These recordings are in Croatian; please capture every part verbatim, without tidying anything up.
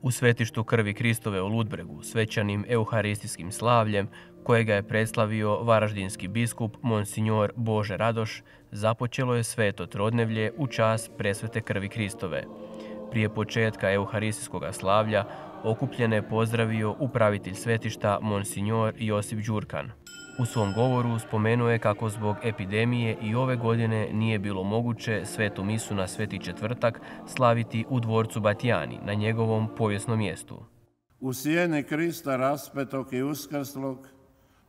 U svetištu krvi Kristove u Ludbregu svečanim euharistijskim slavljem, kojega je predstavio varaždinski biskup Monsignor Bože Radoš, započelo je sveto trodnevlje u čast presvete krvi Kristove. Prije početka euharistijskog slavlja okupljene je pozdravio upravitelj svetišta Monsignor Josip Đurkan. U svom govoru spomenuo je kako zbog epidemije i ove godine nije bilo moguće svetu misu na Sveti četvrtak slaviti u dvorcu Batijani na njegovom povijesnom mjestu. U sjeni Krista raspetog i uskrslog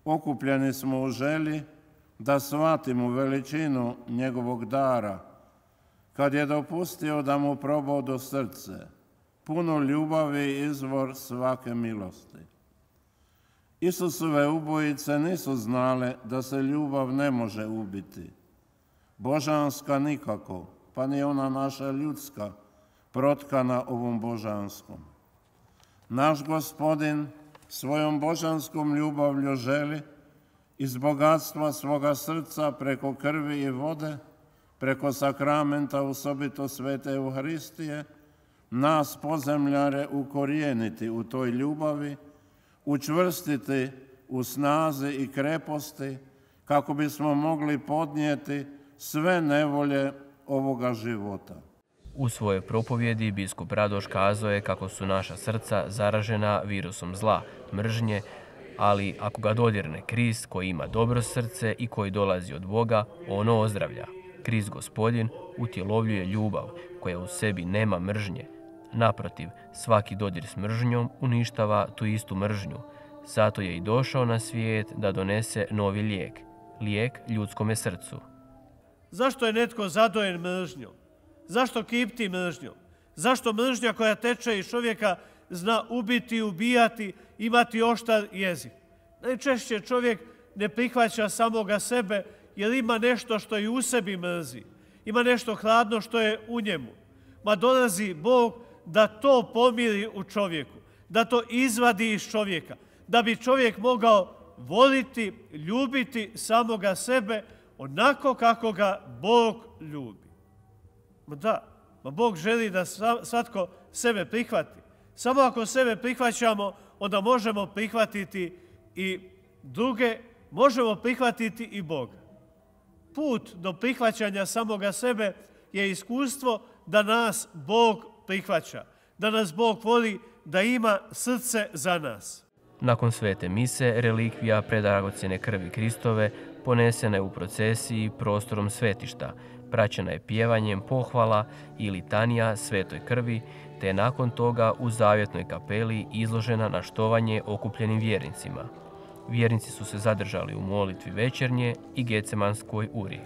okupljeni smo u želji da shvatimo veličinu njegovog dara, kad je dopustio da mu probodu srce, puno ljubavi i izvor svake milosti. Isusove ubojice nisu znale da se ljubav ne može ubiti. Božanska nikako, pa ni ona naša ljudska, protkana ovom božanskom. Naš Gospodin svojom božanskom ljubavlju želi iz bogatstva svoga srca preko krvi i vode, preko sakramenta osobito svete Euharistije, nas pozemljare ukorijeniti u toj ljubavi, učvrstiti u snazi i kreposti, kako bismo mogli podnijeti sve nevolje ovoga života. U svojoj propovjedi biskup Radoš kazao je kako su naša srca zaražena virusom zla, mržnje, ali ako ga dodirne Krist koji ima dobro srce i koji dolazi od Boga, ono ozdravlja. Krist Gospodin utjelovljuje ljubav koja u sebi nema mržnje. Naprotiv, svaki dodir s mržnjom uništava tu istu mržnju. Zato je i došao na svijet da donese novi lijek, lijek ljudskome srcu. Zašto je netko zadojen mržnjom? Zašto kipti mržnjom? Zašto mržnja koja teče iz čovjeka zna ubiti, ubijati, imati oštar jezik? Najčešće čovjek ne prihvaća samoga sebe jer ima nešto što i u sebi mrzi. Ima nešto hladno što je u njemu. Ma dolazi Bog da to pomiri u čovjeku, da to izvadi iz čovjeka, da bi čovjek mogao voliti, ljubiti samoga sebe onako kako ga Bog ljubi. Ma da, ma Bog želi da svatko sebe prihvati. Samo ako sebe prihvaćamo, onda možemo prihvatiti i druge, možemo prihvatiti i Boga. Put do prihvaćanja samoga sebe je iskustvo da nas Bog prihvaća, da nas Bog voli, da ima srce za nas. Nakon svete mise, relikvija predragocjene krvi Kristove ponesena je u procesiji prostorom svetišta, praćena je pjevanjem pohvala i litanija svetoj krvi, te je nakon toga u zavjetnoj kapeli izložena na štovanje okupljenim vjernicima. Vjernici su se zadržali u molitvi večernje i Gecemanskoj uri.